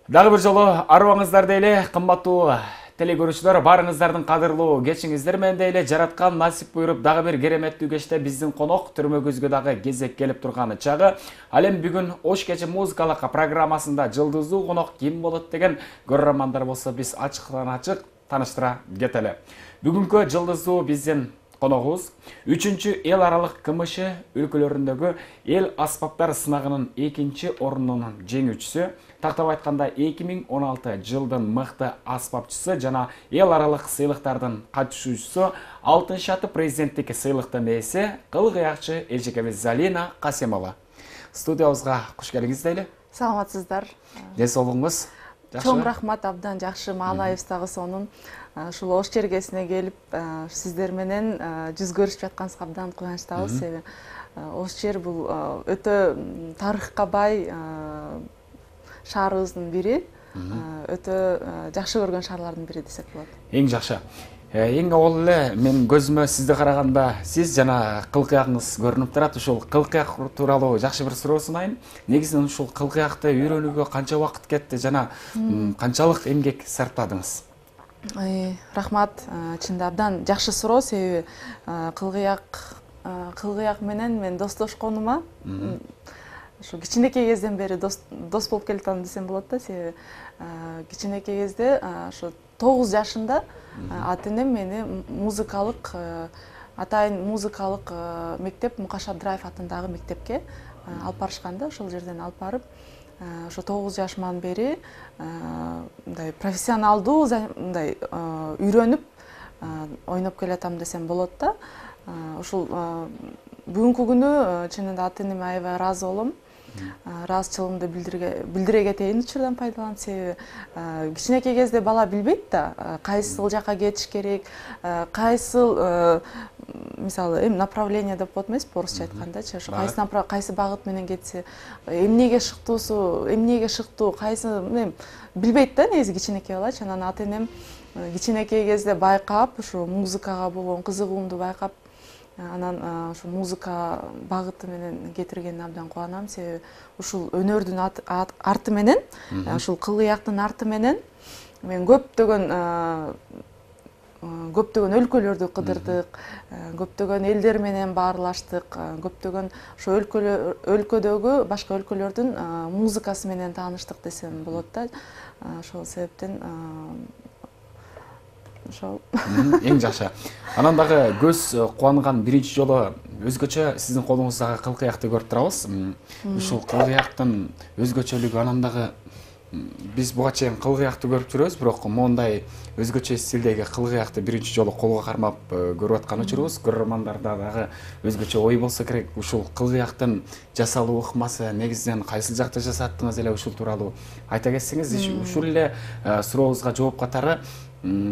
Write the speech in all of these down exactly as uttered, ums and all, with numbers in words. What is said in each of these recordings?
Дагы бир жолу арыбаңыздар дейле, кымбаттуу телекөрүүчүлөр, барыңыздардын кадырлуу кечиңиздер менен дейле жараткан насип буйруп дагы бир кереметтүү кечте биздин конок түрмөгүбүзгө дагы кезек келип турган чагы. Ал эми бүгүн Ош кечи музыкалык программасында жылдыздуу конок ким болот деген көрөрмандар болсо биз ачыктан ачык тааныштыра кетели. Бүгүнкү жылдыздуу биздин коногубуз үчүнчү эл аралык КМШ өлкөлөрүндөгү эл аспаптар сынагынын экинчи орунунун жеңүүчүсү, тактап айтканда эки миң он алты жылдын мыкты аспапчысы жана эл аралык сыйлыктардын катышуучусу, алтын шаты президенттик сыйлыктын ээси, кыл кыякчы эжекебиз Залина Касемова. Студиябызга куш келиңиз дейли. Саламатсыздар. Ден соолугуңуз жакшыбы? Чоң рахмат, абдан жакшы. Маалайыбыз дагы сонун. Ушул Ош чергесине келип, сиздер менен жүз көрүшүп жатканыбызга абдан кубанычтабыз. Себеби Ош чер бул өтө тарыхка бай шаарыбыздын бири, өтө жакшы көргөн шаарлардын бири десек болот. Эң жакшы. Эң авval эле мен көзүмө сизди караганда сиз жана кыл кыягыңыз көрүнүп турат. Ушул кыл кыяк тууралуу жакшы бир суроо sunайын. Негизинен ушул кыл кыякты үйрөнүүгө канча убакыт кетти жана канчалык эмгек сарптадыңыз? Рахмат, чынында абдан жакшы суроо. Себеби кыл кыяк кыл кыяк менен мен достошконума ушу кичинекей кезден бери дос дос болуп келатам десем болот да. Себеби кичинекей кезде ошо тогуз жашында ата энем мени музыкалык атайын музыкалык мектеп Мукаш Абдыраев атындагы мектепке алып барышканда, ошол жерден алып барып, ошо тогуз жашыман бери мындай профессионалдуу мындай үйрөнүп ойноп келатам десем болот да. Ушул бүгүнкү күнү чынында ата энеме аябай ыраазы болом. Ыраазычылыгымды билдире кетейин учурдан пайдаланып. Себеби кичинекей кезде бала билбейт да, кайсыл жака кетиш керек, кайсыл мисалы эми направление деп болот эмеспи орусча айткандачы, ошо кайсы кайсы багыт менен кетсе, эмнеге шыктуусу, эмнеге шыктуу, кайсы эми билбейт да негизи кичинекей балачы. Анан ата энем кичинекей кезде байкап, ушу музыкага болгон кызыгуумду байкап, анан ушу музыка багыты менен кетиргенине абдан кубанам. Себеби ушул өнөрдүн арты менен, ушул кыл кыяктын арты менен мен көптөгөн көптөгөн өлкөлөрдү кыдырдык, көптөгөн элдер менен баарлаштык, көптөгөн ошо өлкөдөгү башка өлкөлөрдүн музыкасы менен тааныштык десем болот да. Ошол себептен ошол. Эң жакшы. Анан дагы көз кубанган биринчи жолу өзгөчө сиздин колуңуздагы кыл кыякты көрүп турабыз. Ушул кыл кыяктын өзгөчөлүгү, анан дагы биз буга чейин кыл кыякты көрүп жүрөбүз, бирок моундай өзгөчө стилдеги кыл кыякты биринчи жолу колго кармап көрүп аткан учурубуз. Көрөрмандарда дагы өзгөчө ой болсо керек. Ушул кыл кыяктын жасалуу ыкмасы негизинен кайсыл жакта жасаттыңыз эле, ушул тууралуу айта кетсеңиз. Ушул эле сурообузга жооп катары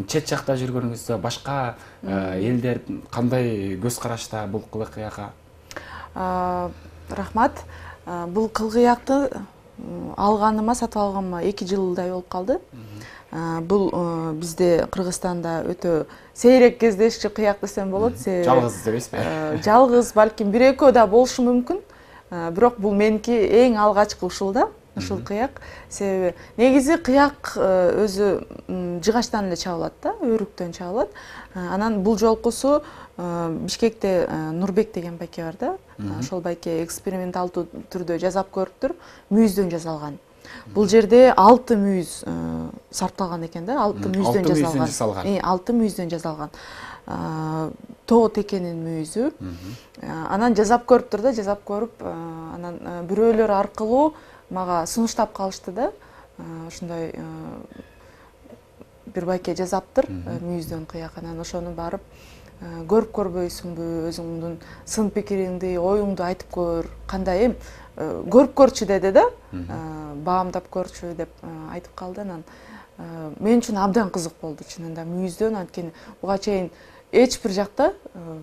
чет жакта жүргөнүңүздө башка элдер кандай көз карашта бул кыл кыякка? Рахмат. Бул кыл кыякты алганыма, сатып алганыма эки жылдай болуп калды. Бул бизде Кыргызстанда өтө сейрек кездешчү кыяк десем болот. Жалгыз эмеспи? Жалгыз, балким бир экөө да болушу мүмкүн. Бирок бул меники эң алгачкы ушул да. Ушул кыяк. Себеби негизи кыяк өзү жыгачтан эле чабылат да, өрүктөн чабылат. Анан бул жолкусу Бишкекте Нурбек деген байке бар да. Ошол байке эксперименталдуу түрдө жасап көрүптүр, мүйүздөн жасалган. Бул жерде алты мүйүз сарпталган экен да, алты мүйүздөн жасалган. Э, алты мүйүздөн жасалган. Тоо текенин мүйүзү. Анан жасап көрүптүр да, жасап көрүп, анан бирөөлөр аркылуу мага сунуштап калышты да. Ушундай бир байке жасаптыр мүйүздөн кыяк. Анан ошону барып көрүп көрбөйсүңбү, өзүңдүн сын пикириңди, оюңду айтып көр, кандай эм көрүп көрчү деди да. Баамдап көрчү деп айтып калды. Анан мен үчүн абдан кызык болду чынында мүйүздөн. Анткени буга чейин эч бир жакта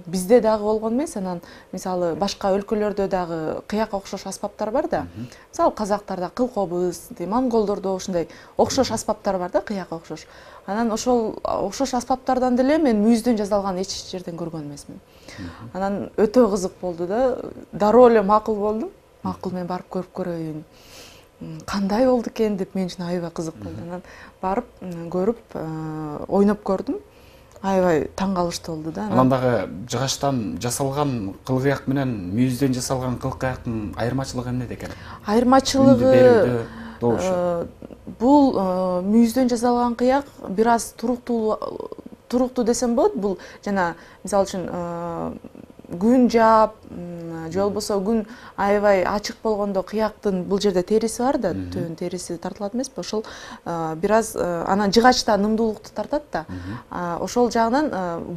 бизде дагы болгон эмес. Анан мисалы башка өлкөлөрдө дагы кыякка окшош аспаптар бар да. Мисалы казактарда кыл кобуз, монголдордо ушундай окшош аспаптар бар да, кыякка окшош. Анан ошол окшош аспаптардан деле мен мүйүздөн жасалган эч жерден көргөн эмесмин. Анан өтө кызык болду да. Дароо эле макул болдум. Макул, мен барып көрүп көрөйүн. кандай болду экен деп мен үчүн аябай кызык болду. Анан барып көрүп ойноп көрдүм. Аябай таң калыштуу болду да. Анан дагы жыгачтан жасалган кылгыяк менен мүйүздөн жасалган кылкыяктын айырмачылыгы эмнеде экен? Айырмачылыгы бул мүйүздөн жасалган кыяк бир аз туруктуу туруктуу десем болот. Бул жана мисалы үчүн күн жаап же болбосо күн аябай ачык болгондо кыяктын бул жерде териси бар да, түбүн териси тартылат эмеспи? Ошол бир аз анан жыгачта нымдуулукту тартат да. Ошол жагынан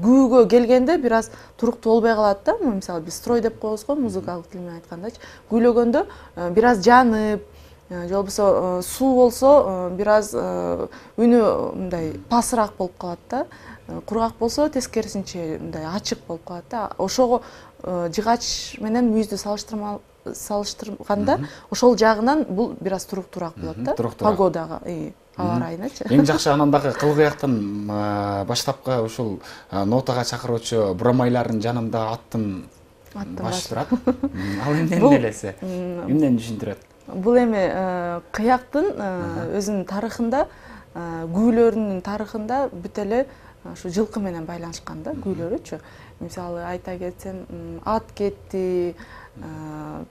күүгө келгенде бир аз туруктуу болбой калат да. Мисалы биз строй деп коебуз го, музыкалык тил менен айткандачы. Күйлөгөндө бир аз жанып, же болбосо суу болсо бир аз үнү мындай пасыраак болуп калат да. Кургак болсо тескерисинче мындай ачык болуп калат да. Ошого жыгач менен мүйүздү салыштырганда ошол жагынан бул бир аз туруктуураак болот да. Погодага, аба ырайыначы. Эң жакшы анан дагы кылгыяктын баштапкы ушул нотага чакыруучу бурамайлардын жанында аттын башы турат. Ал эмнени элесе? Эмнени түшүндүрөт? Бул эми кыяктын өзүнүн тарыхында, күүлөрүнүн тарыхында бүт эле ушу жылкы менен байланышкан да, күүлөрүчү. Мисалы айта кетсем, ат кетти,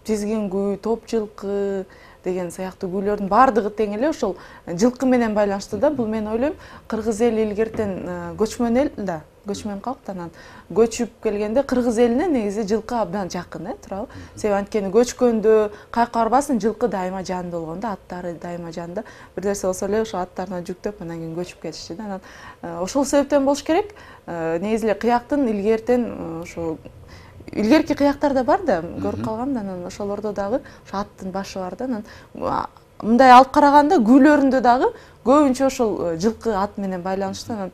тизгин күү, топ жылкы деген сыяктуу күүлөрдүн баардыгы тең эле ошол жылкы менен байланыштуу да. Бул мен ойлойм, кыргыз эли илгертен көчмөн эл да, көчмөн калк да. Анан көчүп келгенде кыргыз элине негизи жылкы абдан жакын, э, туурабы? Себеби анткени көчкөндө кайка барбасын, жылкы дайыма жанында болгон да, аттары дайыма жанында. Бир нерсе болсо эле ошо аттарына жүктөп, анан кийин көчүп кетишти да. Анан ошол себептен болуш керек. Негизи эле кыяктын илгертен ошо илгерки кыяктар да бар да, көрүп калгам да. Анан ошолордо дагы ошо аттын башы бар да. Анан мындай алып караганда күүлөрүндө дагы көбүнчө ошол жылкы ат менен байланыштуу. Анан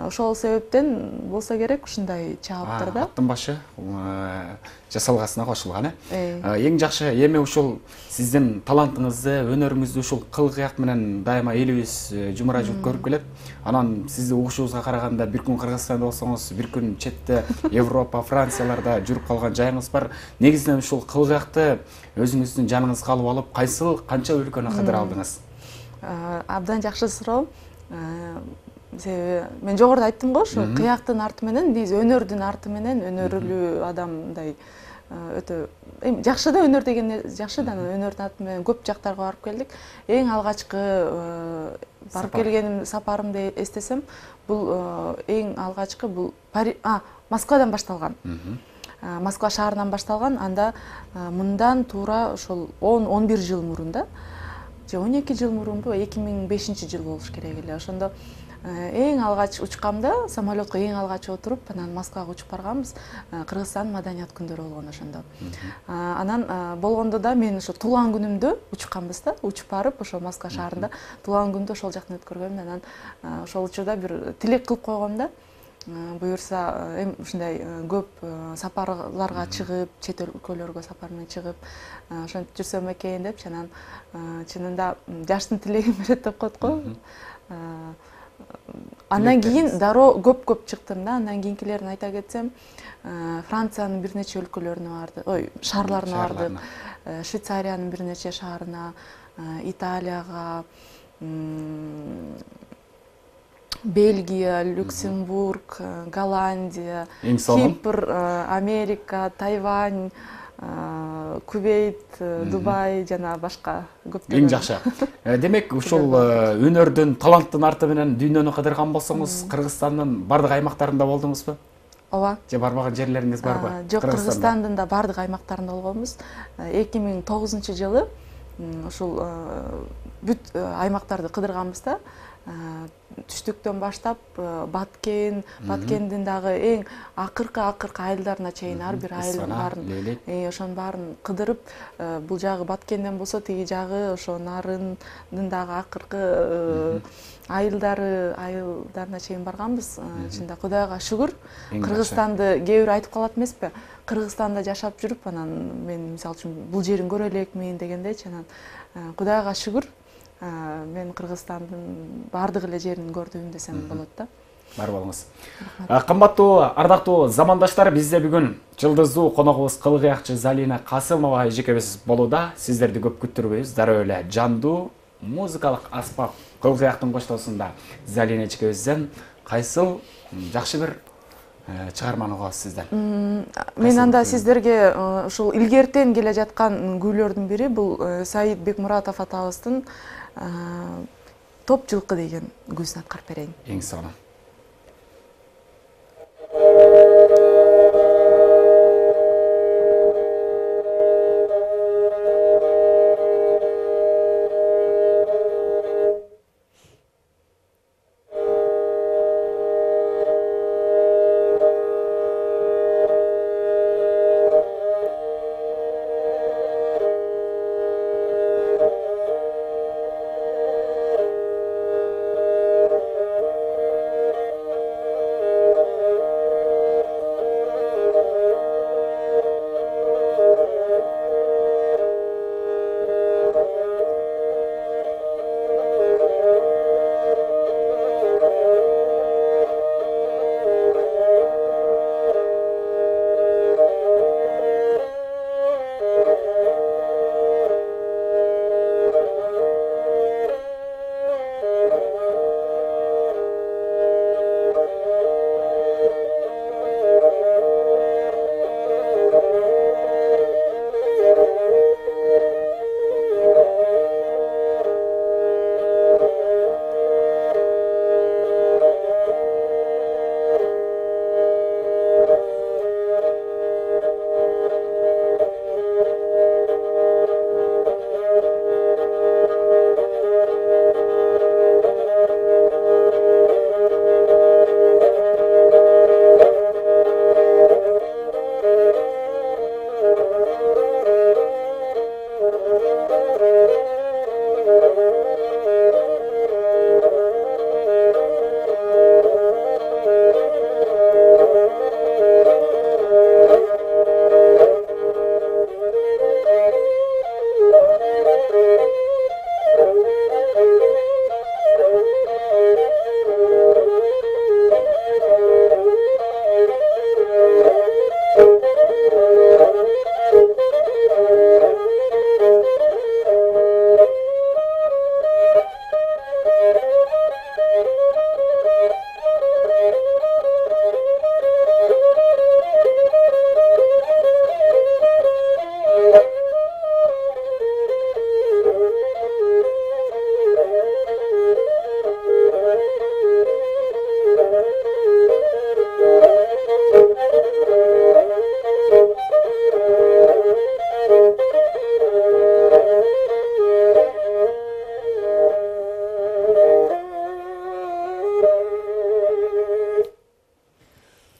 ошол себептен болсо керек ушундай чабыптыр да. Аттын башы жасалгасына кошулган, э? Эң жакшы эми ушул сиздин талантыңызды, өнөрүңүздү ушул кылгыяк менен дайыма элибиз жумура жуп көрүп келет. Анан сизди угушубузга караганда бир күн Кыргызстанда болсоңуз, бир күн четте Европа, Францияларда жүрүп калган жайыңыз бар. Негизинен ушул кылгыякты өзүңүздүн жаныңызга алып алып, кайсыл канча өлкөнү кыдыра алдыңыз? Абдан жакшы суроо. Себеби мен жогоруда айттым го, ошо кыяктын арты менен биз өнөрдүн арты менен өнөрлүү адам мындай өтө эми жакшы да, өнөр деген жакшы да, өнөрдүн арты менен көп жактарга барып келдик. Эң алгачкы барып келгеним сапарымды эстесем, бул эң алгачкы бул Москвадан башталган. Москва шаарынан башталган. Анда мындан туура ошол он он бир жыл мурун да, же он эки жыл мурунбу, эки миң бешинчи жыл болуш керек эле. Ошондо эң алгач учкамда, самолетко эң алгач отуруп, анан Москвага учуп барганбыз. Кыргызстан маданият күндөрү болгон ошондо. Анан болгондо да мен ошо туулган күнүмдө учканбыз да, учуп барып ошо Москва шаарында туулган күндү ошол жактан өткөргөм. Анан ошол учурда бир тилек кылып койгом да. Буюрса эми ушундай көп сапарларга чыгып, чет өлкөлөргө сапар менен чыгып, ошентип жүрсөм экен деп, анан чынында жаштын тилегин берет деп коет го. Андан кийин дароо көп-көп чыктым да. Андан кийинкилерин айта кетсем, Франциянын бир нече өлкөлөрүнө барды, ой, шаарларына бардык. Швейцариянын бир нече шаарына, Италияга, Бельгия, Люксембург, Голландия, Кипр, Америка, Тайвань, Кувейт, Дубай жана башка көптөгөн. Эң жакшы. Демек, ушул өнөрдүн, таланттын арты менен дүйнөнү кыдырган болсоңуз, Кыргызстандын бардык аймактарында болдуңузбу? Ооба. Же барбаган жерлериңиз барбы? Жок, Кыргызстандын да бардык аймактарында болгонбуз. эки миң тогузунчу жылы ушул бүт аймактарды кыдырганбыз да. Түштүктөн баштап Баткен, Баткендин дагы эң акыркы акыркы айылдарына чейин ар бир айылдын баарын, ошонун баарын кыдырып, бул жагы Баткенден болсо тиги жагы ошо Нарындын дагы акыркы айылдары, айылдарына чейин барганбыз. Чында Кудайга шүгүр. Кыргызстанды кээ бир айтып калат эмеспи? Кыргызстанда жашап жүрүп, анан мен мисалы үчүн бул жерин көрө элекмин дегендечи, анан Кудайга шүгүр. Мен Кыргызстандын бардык эле жерин көрдүм десем болот да. бар болуңуз. Кымбаттуу ардактуу замандаштар, бизде бүгүн жылдыздуу коногубуз кылгыякчы Залина Касымова эжекебиз болууда. Сиздерди көп күттүрбөйбүз. Дароо эле жандуу музыкалык аспап кылгыяктын коштоосунда Залина эжекебизден кайсыл жакшы бир чыгарманы угабыз сизден? Мен анда сиздерге ушул илгертен келе жаткан күүлөрдүн бири бул Саид Бекмуратов атабыздын Топ жылкы деген күүсүн аткарып берейин. Эң сонун.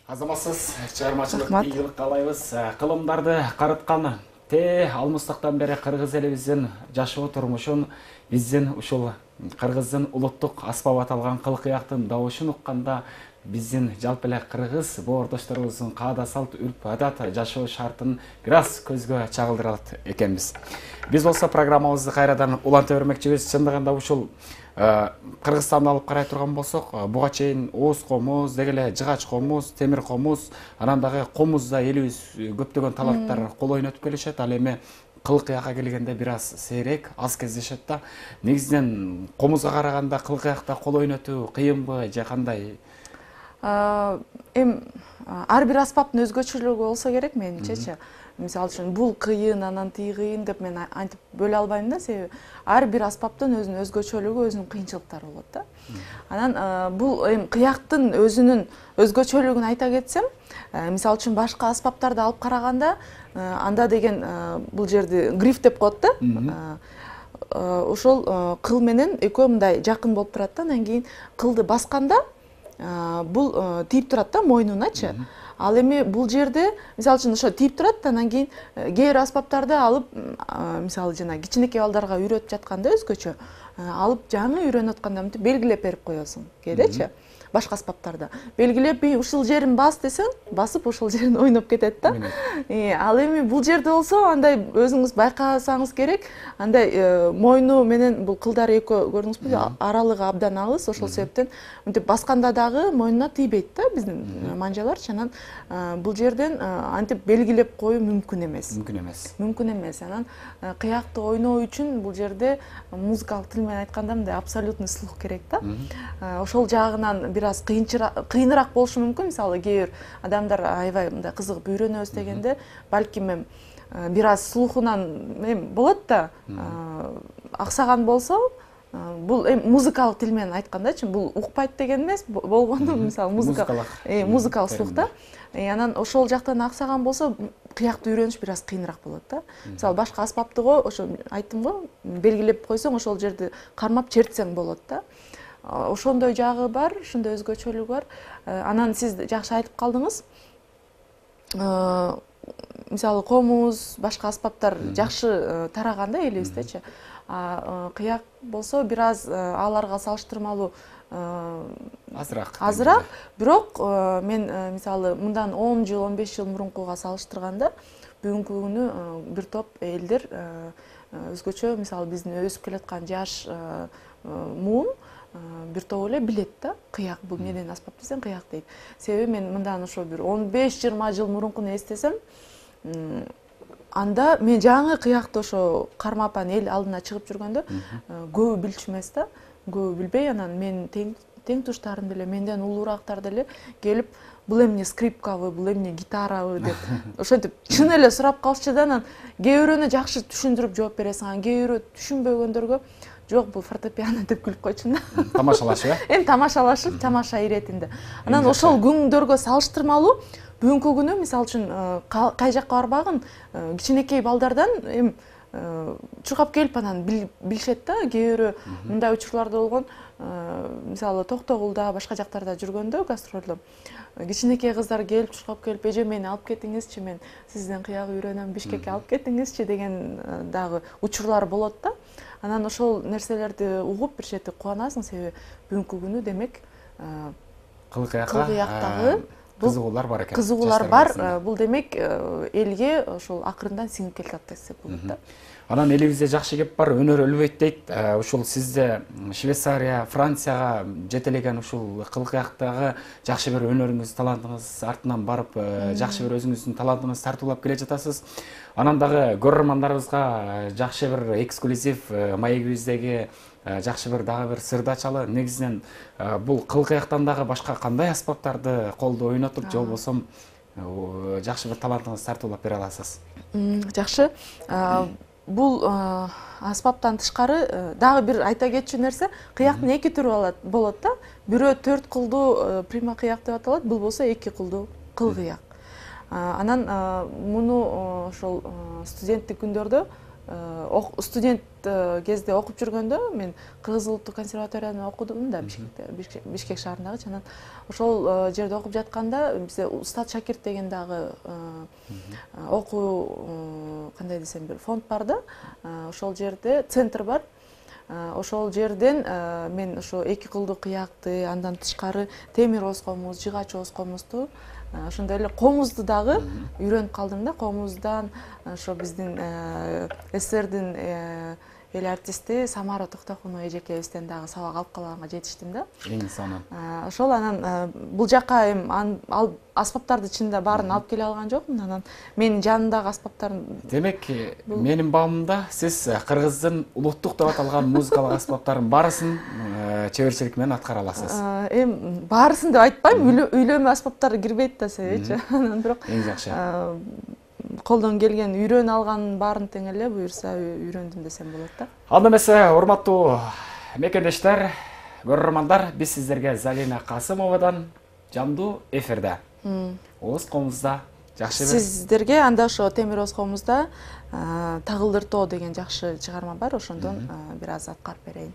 Азаматсыз чыгармачылык ийгилик каалайбыз. Кылымдарды карыткан те алмыстыктан бери кыргыз элибиздин жашоо турмушун, биздин ушул кыргыздын улуттук аспап аталган кылкыяктын добушун укканда биздин жалпы эле кыргыз боордошторубуздун каада салт, үрп адат, жашоо шартын бир аз көзгө чагылдырат экенбиз. Биз болсо программабызды кайрадан уланта бермекчибиз. Чындыгында ушул Кыргызстанды алып карай турган болсок, буга чейин Оз комуз, деги эле Жыгач комуз, Темир комуз, анан дагы комузда элибиз көптөгөн таланттар кол ойнотуп келишет. Ал эми кылкыякка келгенде бир аз сейрек, аз кездешет да. Негизинен комузга караганда кылкыякта кол ойнотуу кыйынбы же кандай? Эм ар бир аспаптын өзгөчөлүгү болсо керек менимчечи. Мисалы үчүн бул кыйын, анан тиги кыйын деп мен антип бөлө албайм да, себеби ар бир аспаптын өзүнүн өзгөчөлүгү, өзүнүн кыйынчылыктары болот да. Анан бул эми кыяктын өзүнүн өзгөчөлүгүн айта кетсем, мисалы үчүн башка аспаптарды алып караганда, анда деген бул жерди гриф деп коет да. Ошол кыл менен экөө мындай жакын болуп турат да, анан кийин кылды басканда бул тийип турат да мойнуначы. Ал эми бул жерде мисалы үчүн ошо тийип турат, анан кийин кээ бир аспаптарды алып, мисалы жана кичинекей балдарга үйрөтүп жатканда өзгөчө, алып жаңы үйрөнүп атканда мынтип белгилеп берип коесуң кээдечи. башка аспаптарда белгилеп ушул жерин бас десең басып ошол жерин ойноп кетет да. Ал эми бул жерде болсо андай өзүңүз байкасаңыз керек, андай мойну менен бул кылдар экөө көрдүңүзбү, аралыгы абдан алыс, ошол себептен мынтип басканда дагы мойнуна тийбейт да биздин манжаларчы. Анан бул жерден антип белгилеп коюу мүмкүн эмес. Мүмкүн эмес. Мүмкүн эмес. Анан кыякты ойноо үчүн бул жерде музыкалык тил менен айтканда мындай абсолютный слух керек да. Ошол жагынан бир аз кыйыныраак болушу мүмкүн. Мисалы кээ бир адамдар аябай мындай кызыгып үйрөнөбүз дегенде балким эми бир аз слухунан эми болот да, аксаган болсо, бул эми музыкалык тил менен айткандачы, бул укпайт деген эмес, болгону мисалы музыкалык музыкалык слух да. Анан ошол жактан аксаган болсо кыякты үйрөнүш бир аз кыйыныраак болот да. Мисалы башка аспапты го ошо айттым го, белгилеп койсоң ошол жерди кармап чертсең болот да. Ошондой жагы бар, ошондой өзгөчөлүгү бар. Анан сиз жакшы айтып калдыңыз. Мисалы комуз, башка аспаптар жакшы тараган да элибиздечи. Кыяк болсо бир аз аларга салыштырмалуу азыраак. Азыраак, бирок мен мисалы мындан он жыл, он беш жыл мурункуга салыштырганда бүгүнкү күнү бир топ элдер өзгөчө, мисалы биздин өсүп келаткан жаш муун бир топ эле билет да, кыяк бул эмнеден аспап десең кыяк дейт. Себеби мен мындан ошо бир он беш жыйырма жыл мурункуну эстесем, анда мен жаңы кыякты ошо кармапан эл алдына чыгып жүргөндө көбү билчү эмес да, көбү билбей, анан мен тең туштарым деле, менден улуурактар деле келип, бул эмне скрипкабы, бул эмне гитарабы деп ошентип чын эле сурап калышчу да. Анан кээ бирөөнө жакшы түшүндүрүп жооп бересиң, анан кээ бирөө түшүнбөгөндөргө жок бул фортепиано деп күлүп койчумун да. Тамашалашып э? Эми тамашалашып, тамаша иретинде. Анан ошол күндөргө салыштырмалуу бүгүнкү күнү мисалы үчүн кай жакка барбагын кичинекей балдардан эми чуркап келип анан билишет да. Кээ бирөө мындай учурларда болгон, мисалы Токтогулда, башка жактарда жүргөндө гастролдо кичинекей кыздар келип чуркап келип, эже мени алып кетиңизчи, мен сизден кыяк үйрөнөм, Бишкекке алып кетиңизчи деген дагы учурлар болот да. Анан ошол нерселерди угуп бир чети кубанасың, себеби бүгүнкү күнү демек кылгыяктагы кызыгуулар бар экен. Кызыгуулар бар. Бул демек элге ошол акырындан сиңип келатат десек болот да. Анан элибизде жакшы кеп бар, өнөр өлбөйт дейт. Ушул сизде Швейцария, Францияга жетелеген ушул кылгыяктагы жакшы бир өнөрүңүз, талантыңыз артынан барып, жакшы бир өзүңүздүн талантыңызды тартуулап келе жатасыз. Анан дагы көрөрмандарыбызга жакшы бир эксклюзив маегибиздеги жакшы бир дагы бир сырды ачалы. Негизинен бул кылгыяктан дагы башка кандай аспаптарды колдо ойнотуп, же болбосо жакшы бир талантыңызды тартуулап бере аласыз? Жакшы. Бул аспаптан тышкары дагы бир айта кетчү нерсе, кыяктын эки түрү болот да. Бирөө төрт кылдуу прима кыяк деп аталат, бул болсо эки кылдуу кылгыяк. Анан муну ошол студенттик күндөрдө, студент кезде окуп жүргөндө мен Кыргыз улуттук консерваторияда окудум да, Бишкекте, Бишкек шаарындагы. Анан ошол жерде окуп жатканда бизде Устат Шакирт деген дагы окуу, кандай десем, бир фонд бар да. Ошол жерде центр бар. Ошол жерден мен ошо эки кылдуу кыякты, андан тышкары темир оз комуз, жыгач оз комузду, ошондой эле комузду дагы үйрөнүп калдым да. Комуздан ошо биздин СССРдин эл артисти Самара Токтокунова эжекебизден дагы сабак алып калганга жетиштим да. Эң сонун. Ошол анан бул жакка эми аспаптарды чынында баарын алып келе алган жокмун. Анан менин жанымдагы аспаптардын. Демек, менин баамымда сиз Кыргыздын улуттук деп аталган музыкалык аспаптардын баарысын чеберчилик менен аткара аласыз. Эми баарысын деп айтпайм, үйлөнмө аспаптары кирбейт да себепчи. Анан бирок эң жакшы. Колдон келген, үйрөнө алганын баарын тең эле буюрса үйрөндүм десем болот да. Анда эмесе, урматтуу мекендештер, көрөрмандар, биз сиздерге Залина Касымовадан жандуу эфирде. Оз комузда жакшы бир. Сиздерге анда ошо темир оз комузда Тагылдыртоо деген жакшы чыгарма бар, ошондон бир аз аткарып берейин.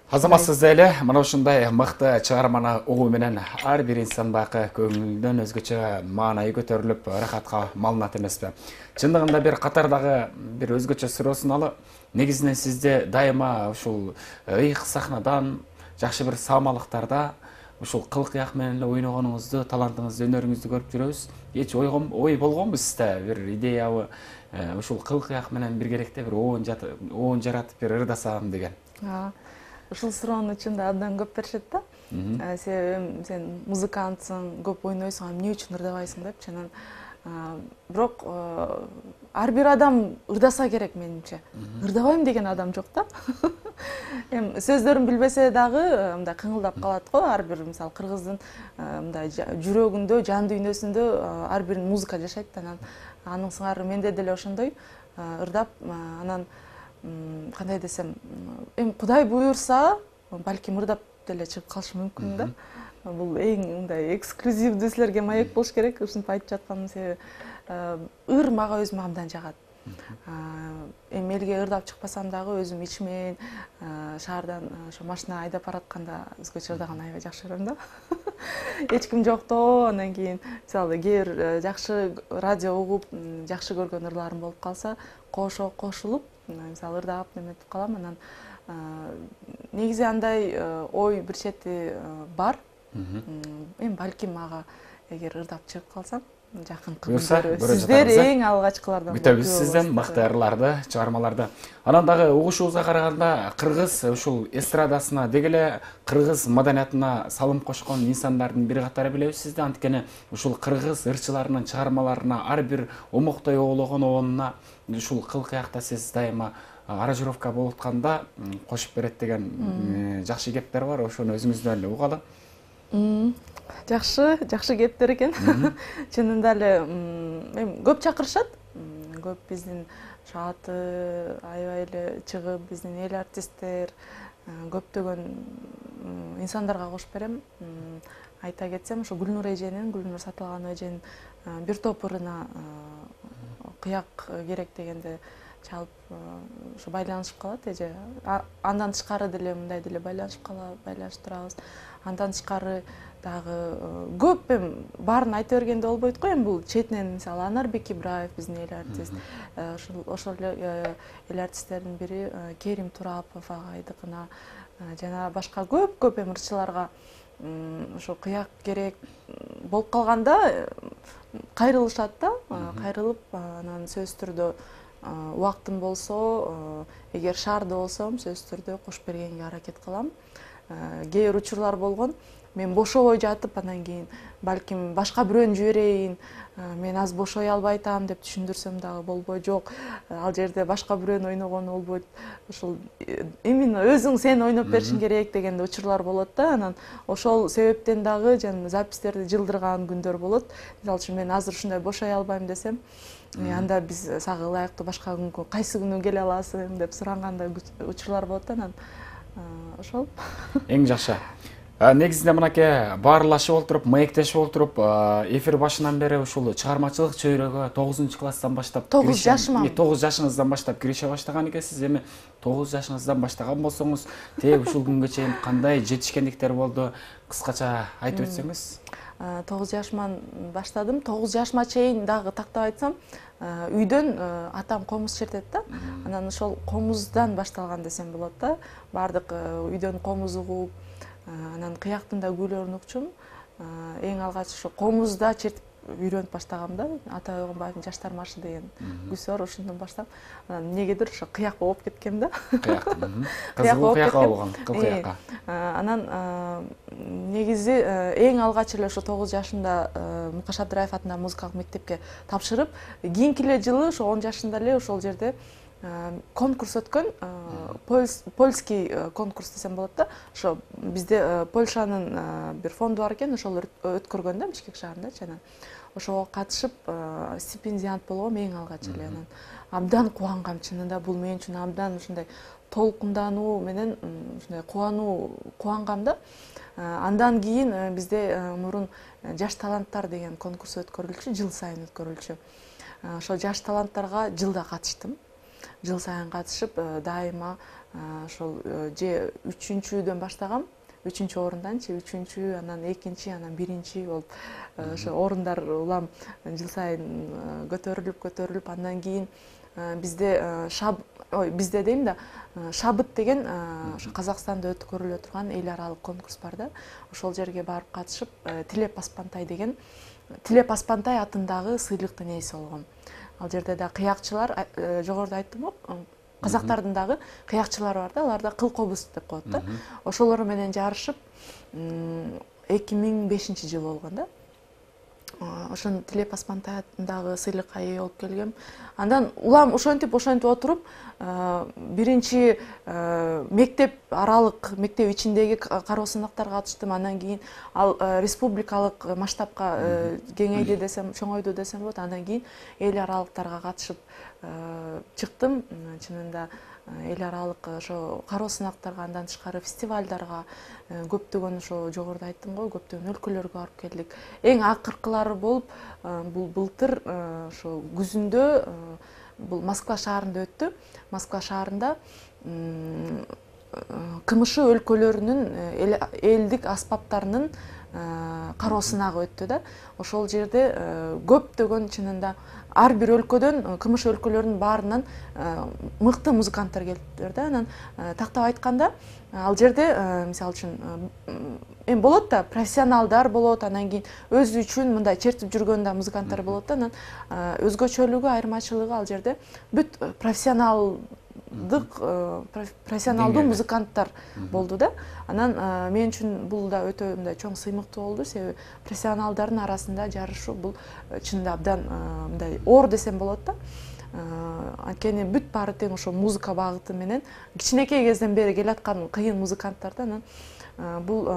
Азаматсыз эле мына ушундай мыкты чыгарманы угуу менен ар бир инсан байкы көңүлдөн өзгөчө маанайы көтөрүлүп ырахатка малынат эмеспи? Чындыгында бир катардагы бир өзгөчө суроо суналып, негизинен сизде дайыма ушул ыйык сахнадан, жакшы бир саамалыктарда ушул кыл кыяк менен эле ойногонуңузду, талантыңызды, өнөрүңүздү көрүп жүрөбүз. Эч ойгон ой болгонбу сизде бир идеябы ушул кыл кыяк менен биргеликте бир оон оон жаратып бир ырдасам деген? Ушул суроону чында абдан көп беришет да. Себеби сен музыкантсың, көп ойнойсуң, эмне үчүн ырдабайсың депчи. Анан бирок ар бир адам ырдаса керек менимче. Ырдабайм деген адам жок да. Эми сөздөрүн билбесе дагы мындай кыңылдап калат го. Ар бир мисалы кыргыздын мындай жүрөгүндө, жан дүйнөсүндө ар бир музыка жашайт да. Анан анын сыңары менде деле ошондой ырдап, анан кандай десем, эми Кудай буйрса, балким ырдап деле чыгып калышы мүмкүн да. Бул эң мындай эксклюзивдүү силерге маек болуш керек, ушинтип айтып жатканым себеби ыр мага өзүмө абдан жагат. Эми элге ырдап чыкпасам дагы өзүм ичимен шаардан ошо машина айдап баратканда өзгөчө ырдаган аябай жакшы көрөм да. Эч ким жоктоо, андан кийин мисалы кээ бир жакшы радио угуп, жакшы көргөн ырларым болуп калса, кошо кошулуп, мисалы ырдап неметип калам. Анан негизи андай ой бир чети бар. Эми балким мага эгер ырдап чыгып калсам, жакынкы күндөрү сиздер эң алгачкылардан күтөбүз сизден мыкты ырларды, чыгармаларды. Анан дагы угушубузга караганда кыргыз ушул эстрадасына деги эле кыргыз маданиятына салым кошкон инсандардын бири катары билебиз сизди. Анткени ушул кыргыз ырчыларынын чыгармаларына, ар бир омоктой оологон оонуна ушул кыл кыякта сиз дайыма аранжировка болуп атканда кошуп берет деген жакшы кептер бар. Ошону өзүңүздөн эле угалы. Жакшы, жакшы кептер экен. Чынында эле эми көп чакырышат. Көп биздин аты аябай эле чыгып, биздин эл артисттер, көптөгөн инсандарга кошуп берем. Айта кетсем, ошо Гүлнур эженин, Гүлнур Сатылганова эженин бир топ ырына кыяк керек дегенде чалып ошо байланышып калат эже. Андан тышкары деле мындай деле байланышып калат, байланыштырабыз. Андан тышкары дагы көп эми баарын айта бергенде болбойт го. Эми бул четинен мисалы Анарбек Ибраев биздин эл артист, ошол эле эл артисттердин бири Керим Турапов агайдыкына жана башка көп-көп эми ырчыларга ошо кыяк керек болуп калганда кайрылышат да. Кайрылып анан сөзсүз түрдө убактым болсо, эгер шаарда болсом, сөзсүз түрдө кошуп бергенге аракет кылам. Кээ бир учурлар болгон. Мен бошобой жатып, анан кийин балким башка бирөөнү жиберейин, мен аз бошой албай атам деп түшүндүрсөм дагы болбой, жок, ал жерде башка бирөөнүн ойногону болбойт. Ошол именно өзүң сен ойноп беришиң керек деген учурлар болот да. Анан ошол себептен дагы жана запистерди жылдырган күндөр болот. Мисалы үчүн мен азыр ушундай бошой албайм десем, анда биз сага ылайыктуу башка күнгө кайсы күнү келе аласың деп сурангандай учурлар болот да. Анан ошол эң жакшы. Негизинде мынакей баарлашып олтуруп, маектешип олтуруп, эфир башынан бери ушул чыгармачылык чөйрөгө тогузунчу класстан баштап, тогуз жашыман. тогуз жашыңыздан баштап кирише баштаган экенсиз. Эми тогуз жашыңыздан баштаган болсоңуз, тээ ушул күнгө чейин кандай жетишкендиктер болду? Кыскача айтып өтсөңүз. тогуз жашыман баштадым. тогуз жашыма чейин дагы тактап айтсам, үйдөн атам комуз чертет да. Анан ошол комуздан башталган десем болот да. Бардык үйдөн комуз угуп, анан кыяктын да күйлөрүн укчум. Эң алгач ошо комузда чертип үйрөнүп баштагам да. Ата Ойгонбаевдин Жаштар маршы деген күсү бар, ошондон баштап. Анан эмнегедир ошо кыяк болуп кеткем да. Кыяк. Кыяк болуп кеткем. Кыл кыякка. Анан негизи эң алгач эле ошо тогуз жашымда Мукаш Абдыраев атындагы музыкалык мектепке тапшырып, кийинки эле жылы ошо он жашында эле ошол жерде конкурс өткөн, польский конкурс десем болот да. Ошо бизде Польшанын бир фонду бар экен, ошол өткөргөн да Бишкек шаарында. Анан ошого катышып стипендиант болгом эң алгач эле. Анан абдан кубангам, чынында бул мен үчүн абдан ушундай толкундануу менен ушундай кубануу кубангам да. Андан кийин бизде мурун жаш таланттар деген конкурс өткөрүлчү, жыл сайын өткөрүлчү. Ошо жаш таланттарга жылда катыштым. жыл сайын катышып дайыма ошол же үчүнчүдөн баштагам, үчүнчү орунданчы, үчүнчү, анан экинчи, анан биринчи болуп ошо орундар улам жыл сайын көтөрүлүп көтөрүлүп андан кийин бизде шаб ой бизде дейм да, шабыт деген ошо Казакстанда өткөрүлө турган эл аралык конкурс бар да. Ошол жерге барып катышып, Тилеп Аспантай деген Тилеп Аспантай атындагы сыйлыктын ээси болгом. Ал жерде да кыякчылар, жогоруда айттым го, казактардын дагы кыякчылары бар да, алар да кыл кобуз деп коет да. Ошолор менен жарышып эки миң бешинчи жыл болгон да. Ошон Тилеп Аспантай атындагы сыйлыкка ээ болуп келгем. Андан улам ошентип ошентип отуруп биринчи мектеп аралык, мектеп ичиндеги кароо сынактарга катыштым. Андан кийин ал республикалык масштабка кеңейди десем, чоңойду десем болот. Андан кийин эл аралыктарга катышып чыктым. Чынында эл аралык ошо кароо сынактарга, андан тышкары фестивалдарга, көптөгөн ошо жогоруда айттым го, көптөгөн өлкөлөргө барып келдик. Эң акыркылары болуп, бул былтыр ошо күзүндө бул Москва шаарында өттү. Москва шаарында КМШ өлкөлөрүнүн элдик аспаптарынын кароо сынагы өттү да. Ошол жерде көптөгөн чынында ар бир өлкөдөн, КМШ өлкөлөрүнүн баарынан мыкты музыканттар келиптир да. Анан тактап айтканда, ал жерде мисалы үчүн эми болот да, профессионалдар болот, анан кийин өзү үчүн мындай чертип жүргөн да музыканттар болот да. Анан өзгөчөлүгү, айырмачылыгы ал жерде бүт профессионал профессионалдуу музыканттар болду да. Анан мен үчүн бул да өтө мындай чоң сыймыктуу болду, себеби профессионалдардын арасында жарышуу бул чынында абдан мындай оор десем болот да. Анткени бүт баары тең ошо музыка багыты менен кичинекей кезден бери келаткан кыйын музыканттар да. Анан бул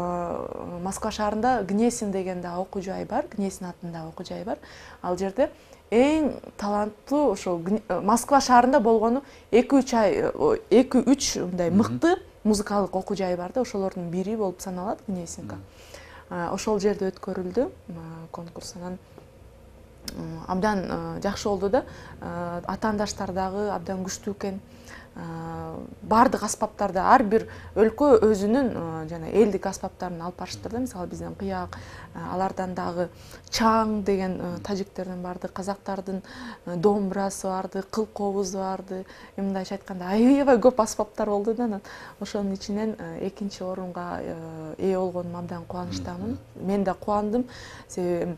Москва шаарында Гнесин деген да окуу жай бар, Гнесин атындагы окуу жай бар. Ал жерде эң таланттуу ошо Москва шаарында болгону эки үч ай, эки үч мындай мыкты музыкалык окуу жай бар да, ошолордун бири болуп саналат Гнесинка. Ошол жерде өткөрүлдү конкурс. Анан абдан жакшы болду да. Атаандаштар дагы абдан күчтүү экен. Бардык аспаптарда ар бир өлкө өзүнүн жана элдик аспаптарын алып барыштыр да. Мисалы бизден кыяк, алардан дагы чаң деген тажиктерден барды, казактардын домбурасы барды, кыл кобузу барды. Мындайча айтканда аябай көп аспаптар болду да. Анан ошонун ичинен экинчи орунга ээ болгонума абдан кубанычтамын. Мен да кубандым, себеби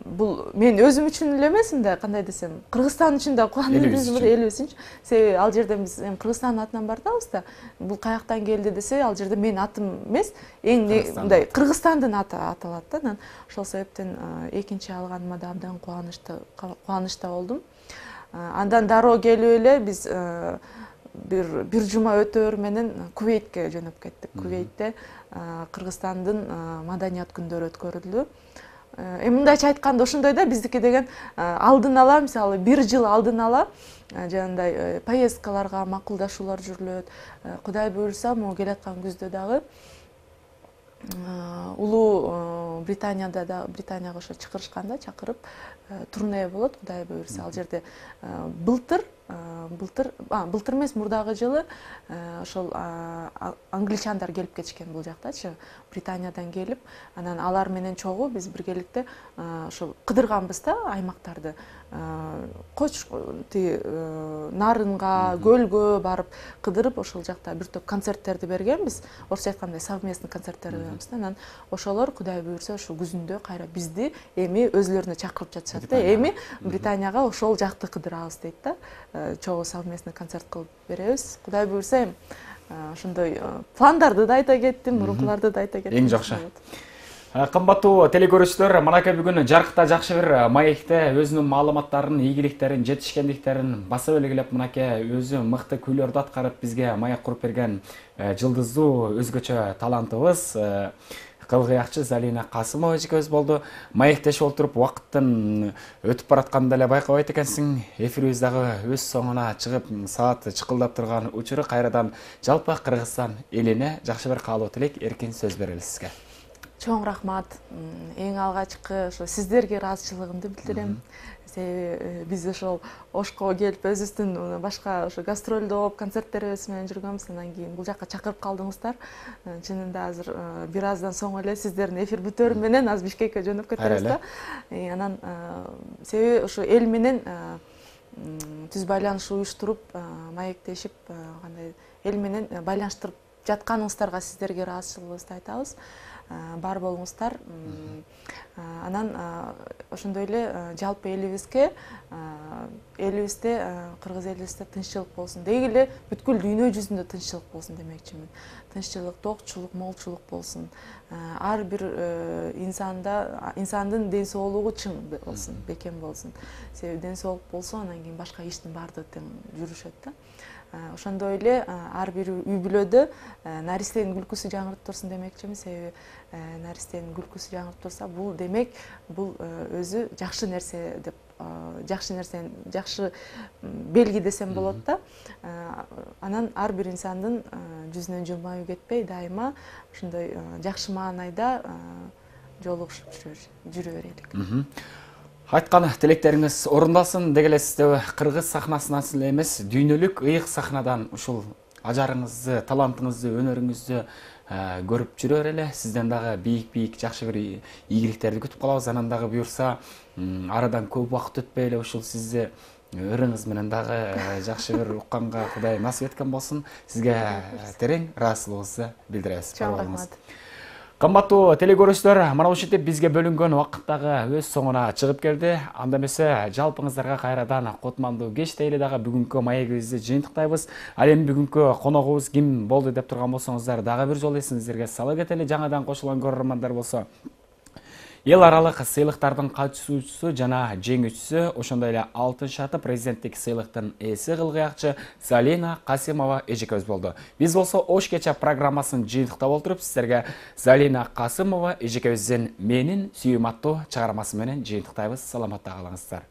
бул мен өзүм үчүн эле эмес, да, кандай десем, Кыргызстан үчүн да кубандым, элибиз үчүн. Себеби ал жерде биз Кыргызстандын атынан бардабыз да. Бул каяктан келди десе, ал жерде менин атым эмес, эң мындай Кыргызстандын аты аталат да. Анан ошол себептен экинчи алганыма да абдан кубанычта кубанычта болдум. Андан дароо келип эле биз бир бир жума өтөөр менен Кувейтке жөнөп кеттик. Кувейтте Кыргызстандын маданият күндөрү өткөрүлдү. Эми мындайча айтканда ошондой да, биздики деген алдын ала, мисалы бир жыл алдын ала жанагындай поездкаларга макулдашуулар жүрүлөт. Кудай буйрса, могу келаткан күздө дагы Улуу Британияда да, Британияга ошо чакырышканда чакырып турне болот, Кудай буйрса. Ал жерде былтыр былтыр былтыр эмес, мурдагы жылы ошол англичандар келип кетишкен бул жактачы, Британиядан келип, анан алар менен чогуу биз биргеликте ошо кыдырганбыз да аймактарды. Коч тиги Нарынга, Көлгө барып кыдырып, ошол жакта бир топ концерттерди бергенбиз. Орусча айтканда совместный концерттер беребиз да. Анан ошолор Кудай буйрса ошо күзүндө кайра бизди эми өзүлөрүнө чакырып жатышат да. Эми Британияга ошол жакты кыдырабыз дейт да. Чогуу совместный концерт кылып беребиз. Кудай буйрса эми ошондой пландарды да айта кеттим, мурункуларды да айта кеттим. Эң жакшы. Кымбаттуу телекөрүүчүлөр, манакей бүгүн жарыкта жакшы бир маекте өзүнүн маалыматтарын, ийгиликтерин, жетишкендиктерин баса белгилеп, манакей өзү мыкты күйлөрдү аткарып бизге маек куруп берген жылдыздуу өзгөчө талантыбыз кылгыякчы Залина Касымова эжекебиз болду. Маектешип отуруп убакыттын өтүп баратканын деле байкабайт экенсиң. Эфирибиз дагы өз соңуна чыгып, саат чыкылдап турган учуру. Кайрадан жалпы Кыргызстан элине жакшы бир каалоо тилек, эркин сөз берели сизге. Чоң рахмат. Эң алгачкы ошо сиздерге ыраазычылыгымды билдирем. Себеби биз ошол Ошко келип өзүбүздүн башка ошо гастролдоп, концерттерибиз менен жүргөнбүз. Андан кийин бул жакка чакырып калдыңыздар. Чынында азыр бир аздан соң эле сиздердин эфир бүтөөрү менен азыр Бишкекке жөнөп кетебиз да. Анан себеби ошо эл менен түз байланыш уюштуруп, маектешип, кандай эл менен байланыштырып жатканыңыздарга сиздерге ыраазычылыгыбызды айтабыз. Бар болуңуздар. Анан ошондой эле жалпы элибизге, элибизде, кыргыз элибизде тынччылык болсун. Деги эле бүткүл дүйнө жүзүндө тынччылык болсун демекчимин. Тынччылык, токчулук, молчулук болсун. Ар бир инсанда, инсандын ден соолугу чың болсун, бекем болсун. Себеби ден соолук болсо, анан кийин башка иштин баардыгы тең жүрүшөт да. Ошондой эле ар бир үй бүлөдө наристенин күлкүсү жаңырып турсун демекчимин. Себеби наристенин күлкүсү жаңырып турса, бул демек бул өзү жакшы нерсе деп, жакшы нерсени, жакшы белги десем болот да. Анан ар бир инсандын жүзүнөн жылмаюу кетпей, дайыма ошондой жакшы маанайда жолугушуп жүрө берелик. Айткан тилектериңиз орундалсын деги эле сизде кыргыз сахнасынан эле эмес, дүйнөлүк ыйык сахнадан ушул ажарыңызды, талантыңызды, өнөрүңүздү көрүп жүрө берели. Сизден дагы бийик-бийик жакшы бир ийгиликтерди күтүп калабыз. Анан дагы буюрса, арадан көп убакыт өтпөй эле ушул сизди ырыңыз менен дагы жакшы бир укканга Кудай насип эткен болсун. Сизге терең ыраазычылыгыбызды билдиребиз. Чоң рахмат. Кымбаттуу телекөрүүчүлөр, мына ушинтип бизге бөлүнгөн убакыт дагы өз соңуна чыгып келди. Анда эмесе жалпыңыздарга кайрадан кутмандуу кеч дейли дагы бүгүнкү маегибизди жыйынтыктайбыз. Ал эми бүгүнкү коногубуз ким болду деп турган болсоңуздар, дагы бир жолу эсиңиздерге сала кетели. Жаңадан кошулган көрөрмандар болсо, эл аралык сыйлыктардын катышуучусу жана жеңүүчүсү, ошондой эле алтын шаты президенттик сыйлыктын ээси кылгыякчы Залина Касымова эжекебиз болду. Биз болсо Ош кече программасын жыйынтыктап отуруп, сиздерге Залина Касымова эжекебиздин менин сүйүм аттуу чыгармасы менен жыйынтыктайбыз. Саламатта калыңыздар.